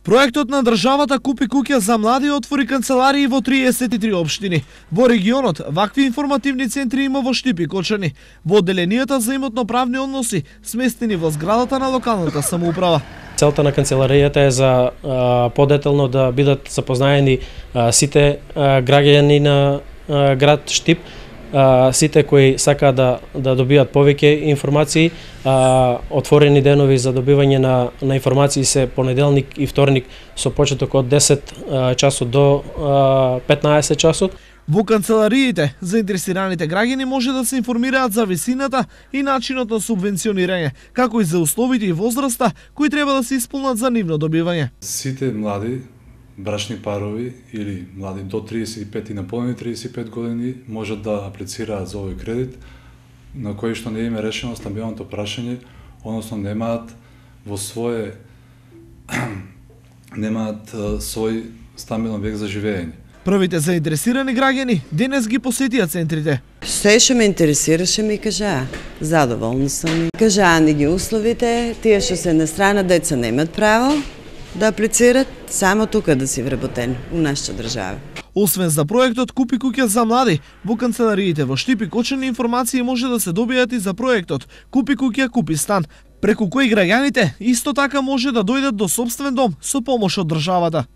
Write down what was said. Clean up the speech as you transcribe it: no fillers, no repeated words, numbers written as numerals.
Проектот на државата Купи куќа за млади отвори канцеларии во 33 општини. Во регионот вакви информативни центри има во Штип и Кочани, во одделенијата за имотно-правни односи, сместени во зградата на локалната самоуправа. Целта на канцеларијата е за подетелно да бидат запознаени сите граѓани на град Штип, сите кои сакаат да добијат повеќе информации. Отворени денови за добивање на информации се понеделник и вторник со почеток од 10 часот до 15 часот. Во канцелариите, заинтересираните граѓани може да се информираат за висината и начинот на субвенционирање, како и за условите и возраста кои треба да се исполнат за нивно добивање. Сите млади брачни парови или млади до 35 и наполнени 35 години можат да аплицираат за овој кредит, на кој што не им е решено стамбилното прашање, односно немаат свој стамбилен објект за живење. Првите заинтересирани граѓани денес ги посетија центрите. Се што ме интересираше ми кажаа. Задоволна сум. Кажаа ни ги условите, тие што се на страна деца немаат право да аплицират, само тука да си вработени у нашата држава. Освен за проектот Купи куќа за млади, во канцелариите во Штип и Кочани информации може да се добијат и за проектот Купи куќа, купи стан, преку кој граѓаните исто така може да дојдат до сопствен дом со помош од државата.